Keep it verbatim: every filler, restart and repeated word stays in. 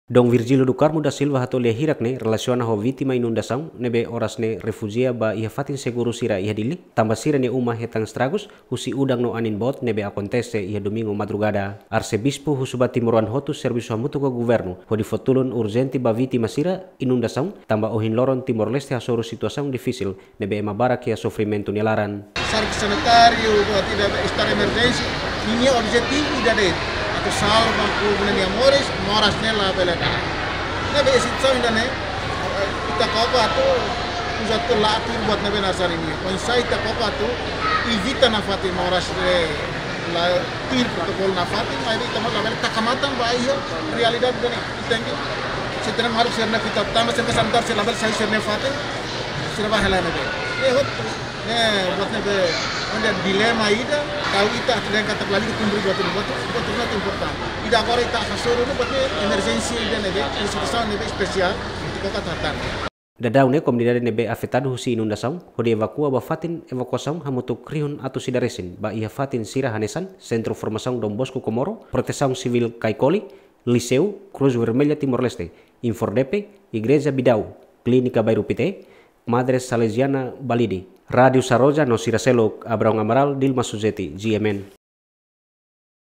Dom Virgílio do Carmo da Silva hato'o lia hirak ne'e relasiona ho vítima inundasaun ne'ebé oras ne'e refújia ba iha fatin seguru sira iha Dili, tanba sira-nia uma hetan estragus husi udan no anin boot ne'ebé akontese iha Domingu madrugada. Arsebispu husu ba timoroan hotu servisu hamutuk ho governu hodi fó tulun urjente ba vítima sira inundasaun, tanba ohin loron Timor-Leste hasoru situasaun difisil ne'ebé ema barak iha sofrimentu nia laran. Servisu sanitáriu buat ida be estadu emerjénsia, ninia objetivu ida de'it atu salva povu nia moris, moras ne'e labele da'et. Ne'ebé situasaun ida-ne'e, ita koko atu uza tuir buat ne'ebé nasarin nian. Oinsá ita koko atu evita nafatin moras ne'e la tuir protokolu nafatin, maibé ita mós labele taka matan ba iha realidade ida-ne'e. Ita tenke, se tenke harus sira-ne'e fita, tanba servisu sanitáriu sira labele sai sira-nia fatin, sira bá hela ne'ebé. Ne'e hotu, ne'e buat ne'ebé, onde dilema ida, tau ita atu dehan katak lalika kumpre buat ne'e, buat ne'e, buat ne'e importante. Ida agora ita hasoru ne'e buat ne'e emerjénsia ida ne'ebé, situasaun ne'ebé espesiál, ita koko atu hatán. Daudaun ne'e komunidade ne'ebé afetadu husi inundasaun hodi evakua ba fatin evakuasaun hamutuk rihun atus ida resin ba iha fatin sira hanesan Sentru Formasaun Dom Bosco Comoro, Protesaun Sivíl Caicoli, Liseu, Cruz Vermelha Timor-Leste, Infordepe, Igreja Bidau, Klínika Bairru Pité, Madre Salesiana Balide. Rádiu Saroja no sira seluk, Abraão Amaral, Dilma Suzeti, G M N.